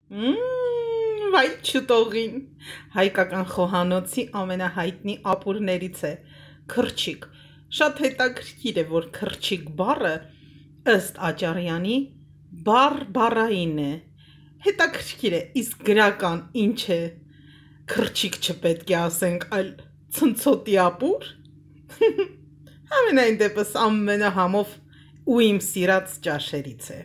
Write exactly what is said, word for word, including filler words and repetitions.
Մմ, վայ չուտողին, հայկական խոհանոցի ամենահայտնի ապուրներից է, քրչիկ, շատ հետաքրքիր է, որ քրչիկ բառը, ըստ Աճարյանի, բառ բառային է, հետաքրքիր է, իսկ գրական ինչ է, քրչիկ չպետք է ասենք, այլ ցնցոտի ապուր, ամենայն դեպս ամենահամով ու իմ սիրած ճաշերից է։